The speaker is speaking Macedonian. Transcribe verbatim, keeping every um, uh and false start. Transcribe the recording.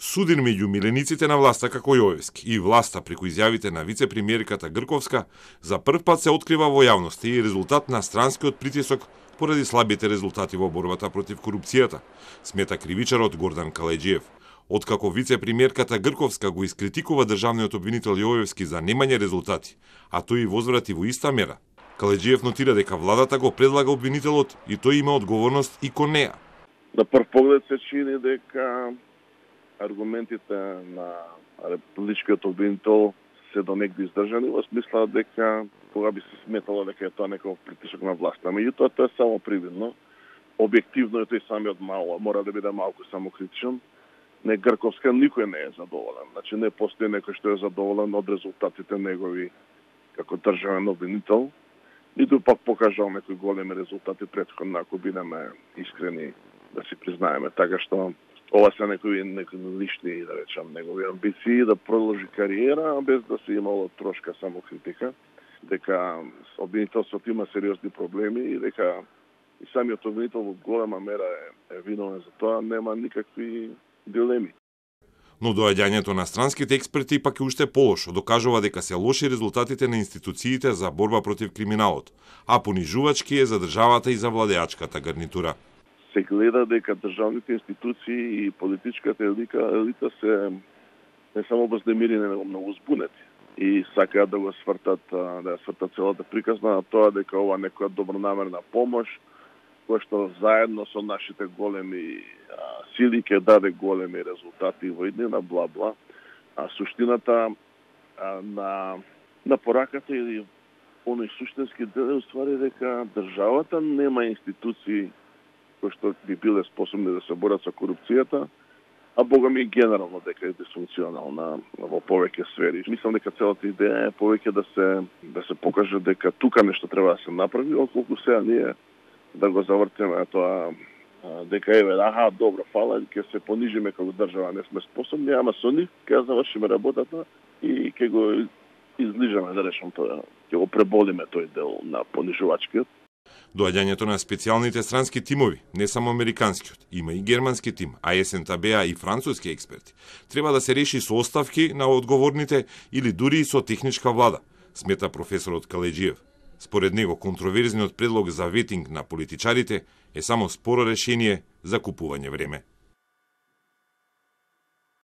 Судир меѓу милениците на власта како Јовевски и власта преку изјавите на вице-премиерката Грковска за прв пат се открива во јавност и резултат на странскиот притисок поради слабите резултати во борбата против корупцијата, смета кривичарот Гордан Калеџиев. Откако вице-премиерката Грковска го искритикува државниот обвинител Јовевски за немање резултати, а тој и возврати во иста мера, Калеџиев нотира дека владата го предлага обвинителот и тој има одговорност и кон неа. На прв поглед се чини дека аргументите на републичкиот обвинител се до негде издржани, во смисла дека кога би се сметало дека е тоа некој притисок на власта. Меѓутоа тоа е само привидно. Објективно е тој самиот мало, мора да биде малку самокритичен. Не Грковска никој не е задоволен. Значи не постои некој што е задоволен од резултатите негови како државен обвинител. Ниту пак покажал некои големи резултати претходно, ако бидеме искрени да си признаеме. Така што ова се некои, некои лични, да речам, негови амбиции да продолжи кариера, без да се имало трошка самокритика, дека обвинителството има сериозни проблеми и дека и самиот обвинител во голема мера е, е виновен за тоа, нема никакви дилеми. Но доаѓањето на странските експерти пак е уште полошо, докажува дека се лоши резултатите на институциите за борба против криминалот, а понижувачки е за државата и за владеачката гарнитура. Се гледа дека државните институции и политичката елита, елита се не само вознемирени, него многу збунети и сакаат да го свртат, да ја свртат целата приказна на тоа дека ова некоја добронамерна помош, која што заедно со нашите големи а, сили ќе даде големи резултати во иднина, бла-бла. А суштината а, на, на пораката или оној суштински дел е уствари дека државата нема институции кои што би биле способни да се борат со корупцијата, а бога ми генерално дека е дисфункционална во повеќе сфери. Мислам дека целата идеја е повеќе да се да се покаже дека тука нешто треба да се направи, отколку сега ние да го завртиме тоа дека еве, аха, добро, фала, ќе се понижиме како држава, не сме способни, ама со нив ќе завршиме работата и ќе го излижаме, да речам тоа, ќе го преболиме тој дел на понижувачкиот. Доаѓањето на специјалните странски тимови, не само американскиот, има и германски тим, а ес ен те бе и француски експерти, треба да се реши со оставки на одговорните или дури и со техничка влада, смета професорот Калеџиев. Според него, контроверзниот предлог за ветинг на политичарите е само споро решение за купување време.